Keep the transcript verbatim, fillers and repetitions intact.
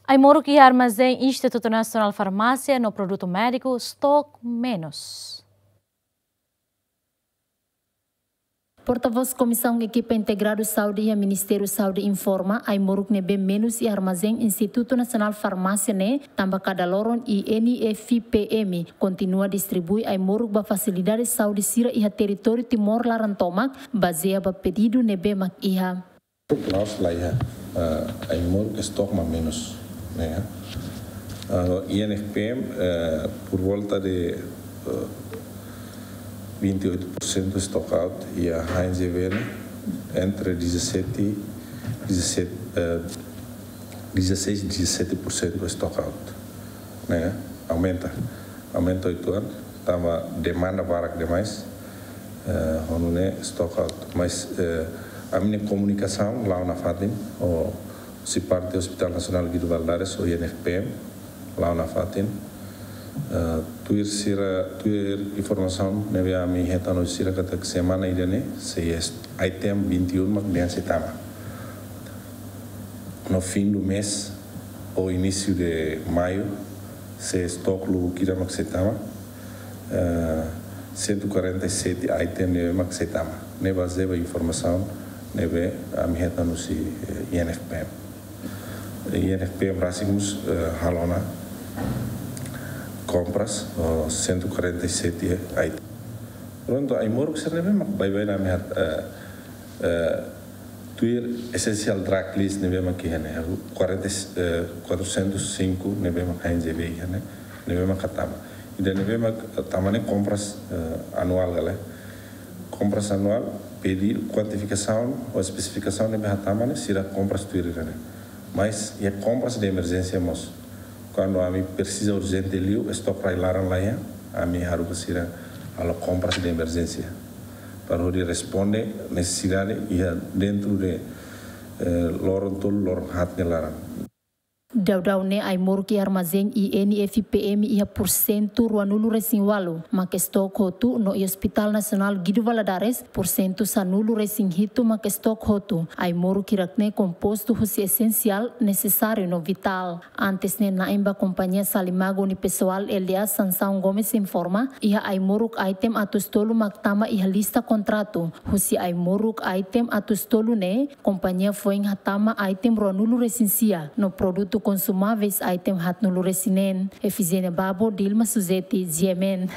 Ai-moruk iha armazén Institutu Nasionál Farmásia no produtu médiku stok menus. Portavós Komisaun Ekipa Integradu Saúde iha Ministériu Saúde informa, ai-moruk ne'ebé menus iha armazén Institutu Nasionál Farmásia ne'e, tanba kada loron I N F P M kontinua distribui ai-moruk ba fasilidade saúde sira iha territóriu Timor laran tomak, bazeia ba pedidu ne'ebé mak iha. La'ós la iha, eh, ai-moruk stok mak menus, ne'e. Ah, I N F P M, eh, por volta de, eh, vinte e oito por cento stock out, iha H N G V ne'e entre dezassete, dezassete, eh, dezasseis, dezasete por cento stock out, ne'e. Aumenta, aumenta oito anos, tanba demanda barak demais, eh, ho nune'e stock out. Mas, eh, ami-nia komunikasaun la'o nafatin, ho husi parte Hospital Nasionál Guido Valadares, ho I N F P M, la'o nafatin. Eh, tuir sira, tuir informasaun ne'ebé ami hetan husi sira katak semana ida-ne'e sei item vinte e um mak dehan sei tama. No fim do mês, ou início de maio, sei stock lubuk ida mak sei tama, eh, cento e quarenta e sete item ne'ebé mak sei tama. Ne'e bazeia ba informasaun ne'ebé ami hetan husi, eh, I N F P M. I N F P M rasik mós, eh, halo ona kompras, oh, cento e quarenta e sete item. Prontu, ai-moruk sira ne'ebé mak baibain ami hat, eh, eh, tuir essential drug list ne'ebé mak iha ne'e, quarenta, eh, quatrocentos e cinco ne'ebé mak H N G V iha ne'e, ne'ebé mak hatama. Ida ne'ebé mak hatama ne'e kompras, eh, anuál gale. Kompras anuál, pedidu, kuantifikasaun ou espesifikasaun ne'ebé hatama ne'e, sira kompras tuir ida-ne'e. Mas iha kompras de emerjénsia mós. Kuandu ami presiza urjente liu, stok rai laran la iha, ami haruka sira halo kompras de emerjénsia. Para hodi responde nesesidade iha dentro de, eh, loron tolu, loron haat nia laran. Daudaun ne'e ai-moruk iha armazén I N F P M iha porsentu ruanulu-resin-ualu mak stok hotu, no iha Hospital Nasionál Guido Valadares porsentu sanulu-resin-hitu mak stok hotu. Ai-moruk hirak ne'e kompostu husi esensiál, nesesáriu no vitál. Antes ne'e na'in ba kompañia Salimago nia pesoál L D A Sansão Gomes informa, iha ai-moruk item atus tolu mak tama iha lista kontratu. Husi ai-moruk item atus tolu ne'e, kompañia foin hatama item ruanulu-resin-sia, no produtu konsumáveis item haatnulu-resin-neen. Efigénia Babo, Dilma Suzeti, G M N.